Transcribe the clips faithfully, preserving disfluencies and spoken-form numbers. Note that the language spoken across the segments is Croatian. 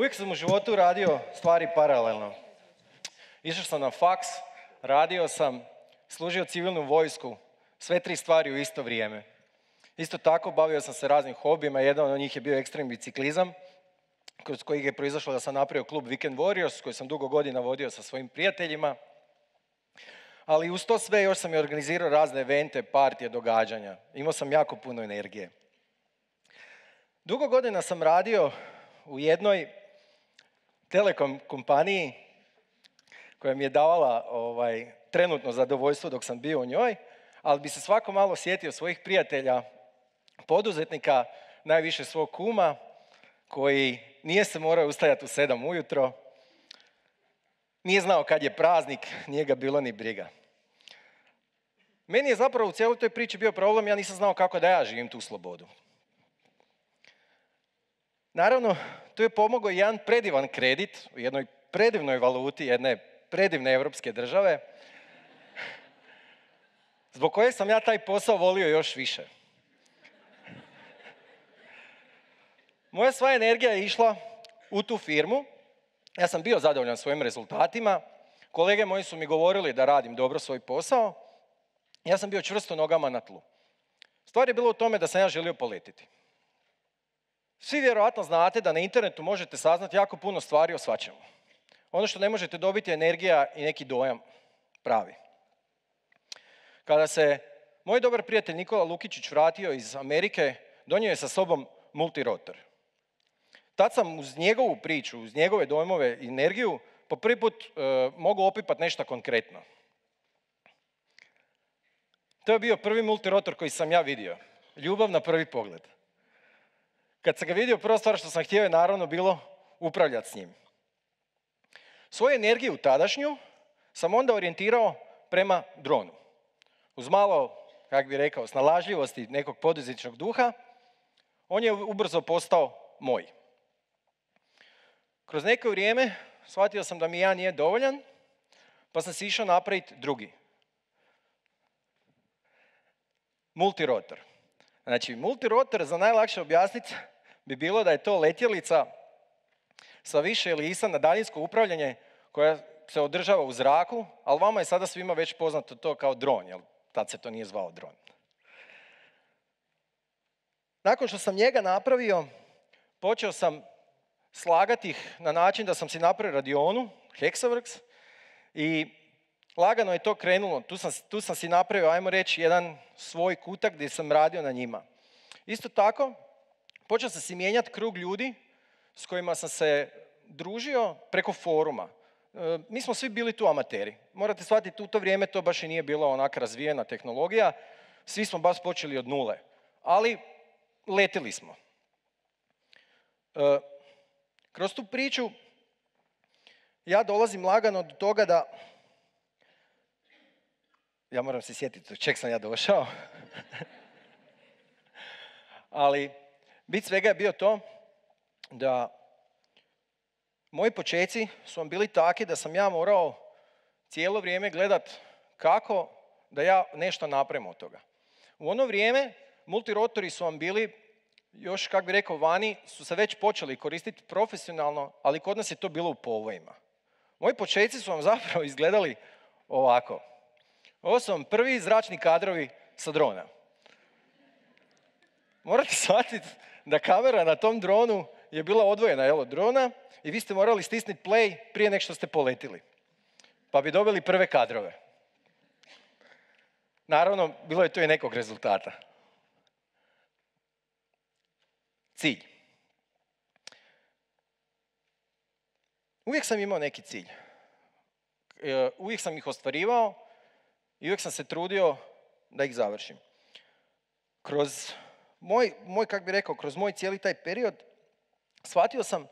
Uvijek sam u životu radio stvari paralelno. Išao sam na faks, radio sam, služio civilnu vojsku, sve tri stvari u isto vrijeme. Isto tako bavio sam se raznim hobijima, jedan od njih je bio ekstremni biciklizam, kroz kojeg je proizašlo da sam napravio klub Weekend Warriors, koji sam dugo godina vodio sa svojim prijateljima. Ali uz to sve još sam i organizirao razne evente, partije, događanja. Imao sam jako puno energije. Dugo godina sam radio u jednoj telekom kompaniji koja mi je davala ovaj, trenutno zadovoljstvo dok sam bio u njoj, ali bi se svako malo sjetio svojih prijatelja, poduzetnika, najviše svog kuma, koji nije se morao ustajati u sedam ujutro, nije znao kad je praznik, nije ga bilo ni briga. Meni je zapravo u cijeloj toj priči bio problem, ja nisam znao kako da ja živim tu slobodu. Naravno, tu je pomogao jedan predivan kredit u jednoj predivnoj valuti jedne predivne evropske države, zbog koje sam ja taj posao volio još više. Moja sva energija je išla u tu firmu, ja sam bio zadovoljan svojim rezultatima, kolege moji su mi govorili da radim dobro svoj posao, ja sam bio čvrsto nogama na tlu. Stvar je bila u tome da sam ja želio poletiti. Svi vjerojatno znate da na internetu možete saznati jako puno stvari o svačemu. Ono što ne možete dobiti je energija i neki dojam pravi. Kada se moj dobar prijatelj Nikola Lukičić vratio iz Amerike, donio je sa sobom multirotor. Tad sam uz njegovu priču, uz njegove dojmove i energiju, po prvi put e, mogu opipati nešto konkretno. To je bio prvi multirotor koji sam ja vidio. Ljubav na prvi pogled. Kad sam ga vidio, prva stvar što sam htio je naravno bilo upravljati s njim. Svoju energiju tadašnju sam onda orijentirao prema dronu. Uz malo, kako bi rekao, snalažljivosti nekog poduzetničkog duha, on je ubrzo postao moj. Kroz neko vrijeme shvatio sam da mi ja nije dovoljan, pa sam si išao napraviti drugi. Multirotor. Znači, multirotor, za najlakše objasniti, bi bilo da je to letjelica sa više elisa na daljinsko upravljanje koja se održava u zraku, ali vama je sada svima već poznato to kao dron, jer tad se to nije zvao dron. Nakon što sam njega napravio, počeo sam slagati ih na način da sam si napravio radionu, Hexaworks, i lagano je to krenulo. Tu sam, tu sam si napravio, ajmo reći, jedan svoj kutak gdje sam radio na njima. Isto tako, počeo sam si mijenjati krug ljudi s kojima sam se družio preko foruma. E, mi smo svi bili tu amateri. Morate shvatiti, u to vrijeme to baš i nije bila onaka razvijena tehnologija. Svi smo baš počeli od nule. Ali letili smo. E, kroz tu priču ja dolazim lagano do toga da... Ja moram se sjetiti čeg sam ja došao. Ali bit svega je bio to da moji počeci su vam bili takvi da sam ja morao cijelo vrijeme gledat kako da ja nešto napravim od toga. U ono vrijeme multirotori su vam bili, još kako bi rekao vani, su se već počeli koristiti profesionalno, ali kod nas je to bilo u povojima. Moji počeci su vam zapravo izgledali ovako. Ovo su vam prvi zračni kadrovi sa drona. Morate shvatiti da kamera na tom dronu je bila odvojena jel, od drona i vi ste morali stisniti play prije nego što ste poletili. Pa bi dobili prve kadrove. Naravno, bilo je to i nekog rezultata. Cilj. Uvijek sam imao neki cilj. Uvijek sam ih ostvarivao i uvijek sam se trudio da ih završim. Kroz moj, moj kako bi rekao, kroz moj cijeli taj period shvatio sam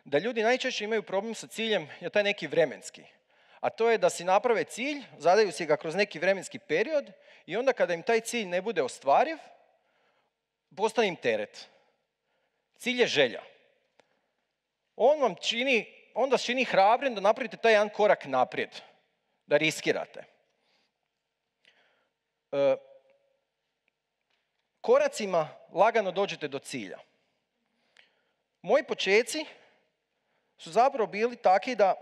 da ljudi najčešće imaju problem sa ciljem je taj neki vremenski. A to je da si naprave cilj, zadaju si ga kroz neki vremenski period i onda kada im taj cilj ne bude ostvariv, postane im teret. Cilj je želja. On vam čini, onda čini hrabrim da napravite taj jedan korak naprijed, da riskirate. E, koracima lagano dođete do cilja. Moji počeci su zapravo bili taki da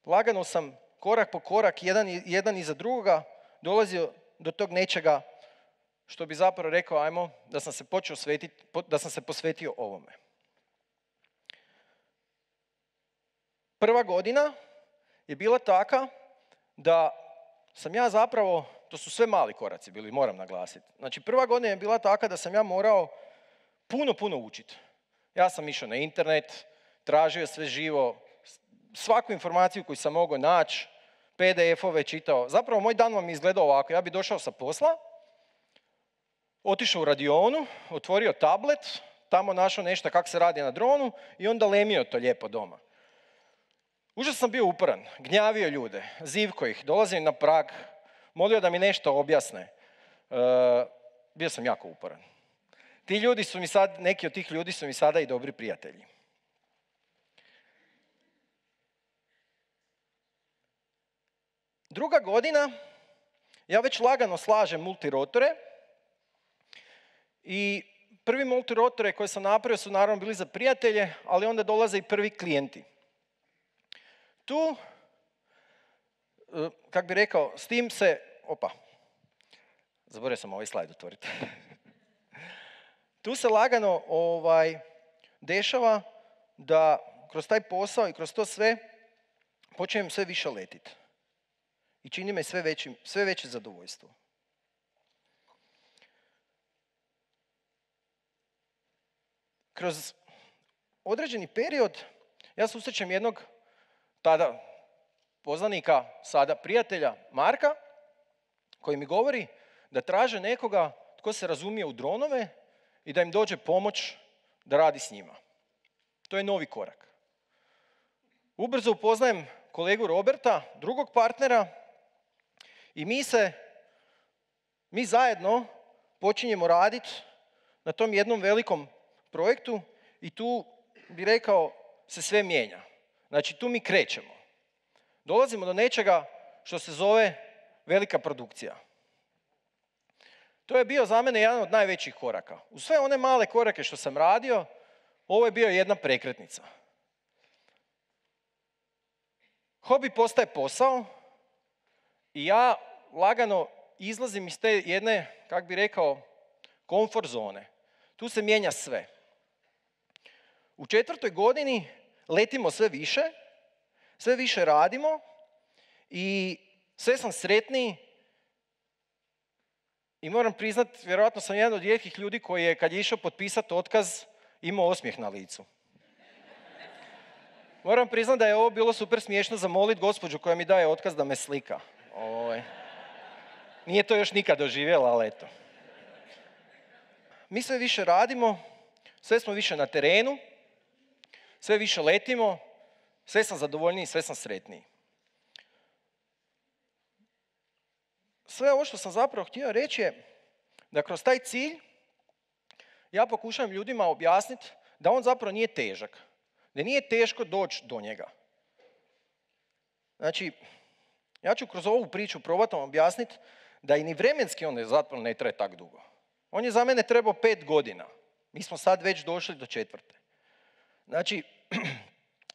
lagano sam korak po korak, jedan, jedan iza drugoga, dolazio do tog nečega što bi zapravo rekao, ajmo, da sam se počeo svetiti, da sam se posvetio ovome. Prva godina je bila taka da sam ja zapravo, to su sve mali koraci bili, moram naglasiti. Znači, prva godina je bila taka da sam ja morao puno, puno učiti. Ja sam išao na internet, tražio sve živo, svaku informaciju koju sam mogao naći, P D F-ove čitao. Zapravo, moj dan vam je izgledao ovako. Ja bi došao sa posla, otišao u radionu, otvorio tablet, tamo našao nešto kako se radi na dronu i onda lemio to lijepo doma. Užasno sam bio uporan, gnjavio ljude, zivko ih, dolazio na prag, molio da mi nešto objasne. E, bio sam jako uporan. Ti ljudi su mi sad, neki od tih ljudi su mi sada i dobri prijatelji. Druga godina, ja već lagano slažem multirotore i prvi multirotore koje sam napravio su naravno bili za prijatelje, ali onda dolaze i prvi klijenti. Tu, kak bi rekao, s tim se, opa, zaboravio sam ovaj slajd otvoriti. Tu se lagano ovaj, dešava da kroz taj posao i kroz to sve počnem sve više letiti. I čini me sve, veći, sve veće zadovoljstvo. Kroz određeni period ja susrećem jednog tada poznanika, sada prijatelja Marka, koji mi govori da traže nekoga tko se razumije u dronove i da im dođe pomoć da radi s njima. To je novi korak. Ubrzo upoznajem kolegu Roberta, drugog partnera, i mi se, mi zajedno počinjemo raditi na tom jednom velikom projektu i tu bi rekao se sve mijenja. Znači tu mi krećemo. Dolazimo do nečega što se zove velika produkcija. To je bio za mene jedan od najvećih koraka. U sve one male korake što sam radio, ovo je bio jedna prekretnica. Hobi postaje posao i ja lagano izlazim iz te jedne, kak bi rekao, komfort zone. Tu se mijenja sve. U četvrtoj godini letimo sve više, sve više radimo i sve sam sretniji i moram priznati, vjerojatno sam jedan od rijetkih ljudi koji je, kad je išao potpisati otkaz, imao osmijeh na licu. Moram priznati da je ovo bilo super smiješno zamoliti gospođu koja mi daje otkaz da me slika. Oj. Nije to još nikad doživjela, ali eto. Mi sve više radimo, sve smo više na terenu, sve više letimo, sve sam zadovoljniji, sve sam sretniji. Sve ovo što sam zapravo htio reći je da kroz taj cilj ja pokušavam ljudima objasniti da on zapravo nije težak, da nije teško doći do njega. Znači, ja ću kroz ovu priču probati vam objasniti da i ni vremenski on zapravo ne traje tak dugo. On je za mene trebao pet godina. Mi smo sad već došli do četvrte. Znači,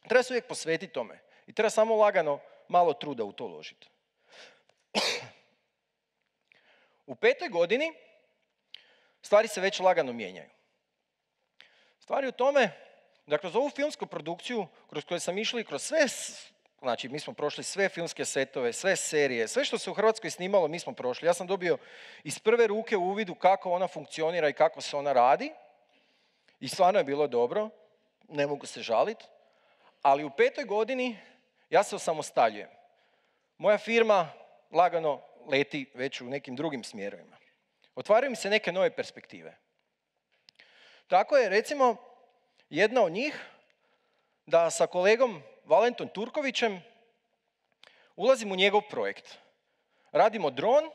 treba se uvijek posvetiti tome i treba samo lagano malo truda u to uložiti. U petoj godini stvari se već lagano mijenjaju. Stvari u tome da kroz ovu filmsku produkciju, kroz koju sam išli, kroz sve, znači mi smo prošli sve filmske setove, sve serije, sve što se u Hrvatskoj snimalo mi smo prošli. Ja sam dobio iz prve ruke u uvidu kako ona funkcionira i kako se ona radi i stvarno je bilo dobro, ne mogu se žaliti, ali u petoj godini ja se osamostaljujem. Moja firma lagano leti već u nekim drugim smjerovima. Otvaraju mi se neke nove perspektive. Tako je, recimo, jedna od njih da sa kolegom Valentom Turkovićem ulazim u njegov projekt. Radimo dron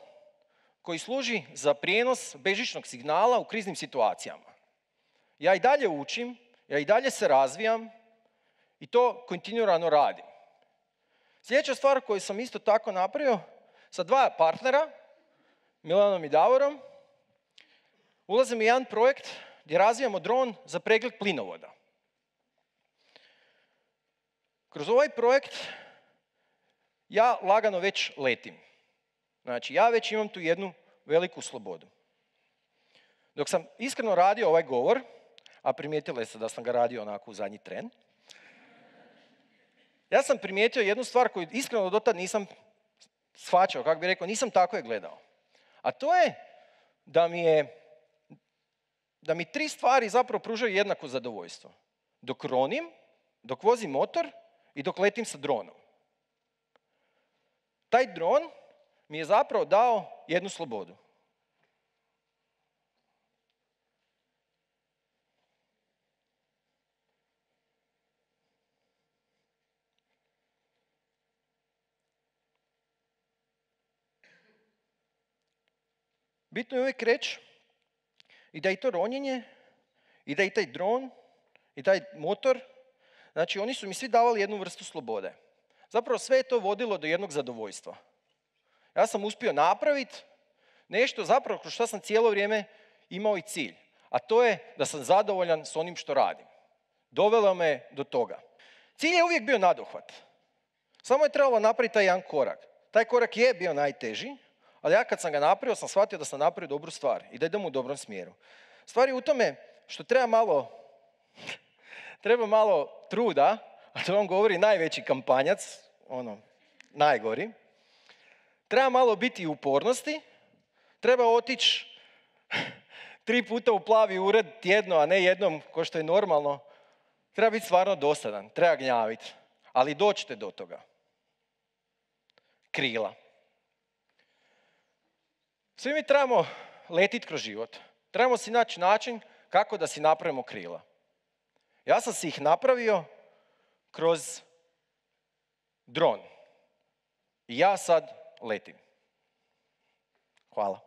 koji služi za prijenos bežičnog signala u kriznim situacijama. Ja i dalje učim, ja i dalje se razvijam i to kontinuirano radim. Sljedeća stvar koju sam isto tako napravio, sa dva partnera, Milanom i Davorom, ulazim u jedan projekt gdje razvijamo dron za pregled plinovoda. kroz ovaj projekt ja lagano već letim. Znači, ja već imam tu jednu veliku slobodu. Dok sam iskreno radio ovaj govor, a primijetili ste da sam ga radio onako u zadnji tren, ja sam primijetio jednu stvar koju iskreno dotad nisam shvaćao, kako bih rekao, nisam tako je gledao. A to je da mi je, da mi tri stvari zapravo pružaju jednako zadovoljstvo. Dok ronim, dok vozim motor i dok letim sa dronom. Taj dron mi je zapravo dao jednu slobodu. Bitno je uvijek reći i da i to ronjenje, i da i taj dron, i taj motor, znači oni su mi svi davali jednu vrstu slobode. Zapravo sve je to vodilo do jednog zadovoljstva. Ja sam uspio napraviti nešto zapravo kroz što sam cijelo vrijeme imao i cilj. A to je da sam zadovoljan s onim što radim. Dovelo me do toga. Cilj je uvijek bio nadohvat. Samo je trebalo napraviti taj jedan korak. Taj korak je bio najteži, ali ja kad sam ga napravio, sam shvatio da sam napravio dobru stvar i da idem u dobrom smjeru. Stvar je u tome što treba malo, treba malo truda, a to vam govori najveći kampanjac, ono, najgori. Treba malo biti i upornosti, treba otići tri puta u plavi ured tjedno, a ne jednom, ko što je normalno. Treba biti stvarno dosadan, treba gnjaviti, ali doćete do toga. Krila. Svi mi trebamo letiti kroz život. Trebamo si naći način kako da si napravimo krila. Ja sam si ih napravio kroz dron. I ja sad letim. Hvala.